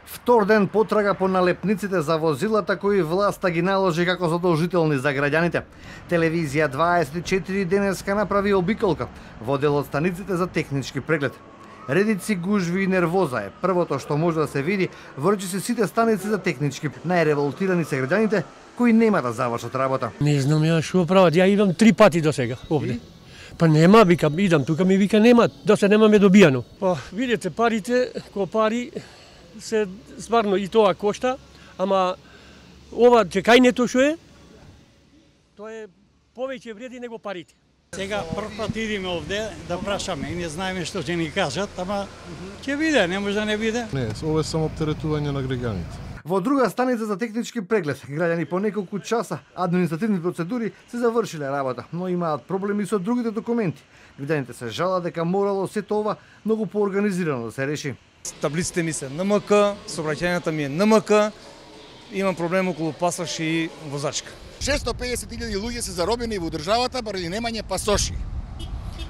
Втор ден потрага по налепниците за возилата кои власта ги наложи како задолжителни за граѓаните. Телевизија 24 денеска направи обиколка во дел од станиците за технички преглед. Редици, гужви и нервоза е првото што може да се види во речиси сите станици за технички. Најреволтирани се граѓаните кои нема да завршат работа. Не знам ја што прават, ја идам 3 пати до сега овде. Па нема, викам, идам тука, ми вика нема, до се немаме добијано. Па видите, парите, ко пари се стварно и тоа кошта, ама ова чекањето што е, тоа е повеќе вреди него парите. Сега прв пат идеме овде да прашаме и не знаеме што ќе ни кажат, ама ќе биде, не може да не биде. Не, ова е само оптеретување на граѓаните. Во друга станица за технички преглед, граѓани по неколку часа административни процедури се завршиле работа, но имаат проблеми со другите документи. Граѓаните се жалат дека морало сето ова многу поорганизирано да се реши. Таблиците ми се НМК, сообраќајната ми е НМК, имам проблем околу пасош и возачка. 650.000 луѓе се заробени во државата баради немање пасоши.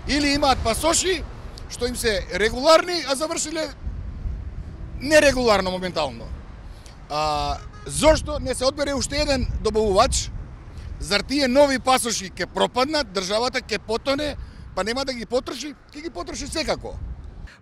Или имаат пасоши што им се регуларни, а завршиле нерегуларно моментално. Зошто не се одбере уште еден добавувач? Зар тие нови пасоши ќе пропаднат, државата ќе потоне, па нема да ги потроши? Ќе ги потроши секако.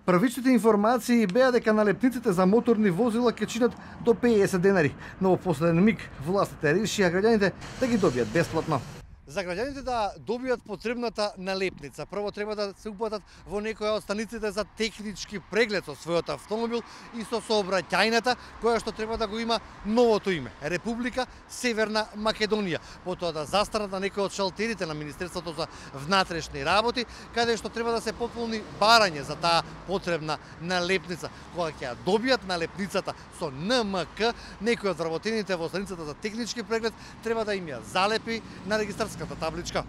Првичните информации беа дека налепниците за моторни возила ќе чинат до 50 денари, но во последен миг властите решија граѓаните да ги добијат бесплатно. За граѓаните да добијат потребната налепница, прво треба да се упатат во некоја од станиците за технички преглед со својот автомобил и со сообраќајната која што треба да го има новото име – Република Северна Македонија. Потоа да застанат на некој од шалтерите на Министерството за внатрешни работи, каде што треба да се пополни барање за таа потребна налепница. Кога ќе ја добијат налепницата со НМК, некој од вработените во станицата за технички преглед треба да им ја залепи на регистарската табличка.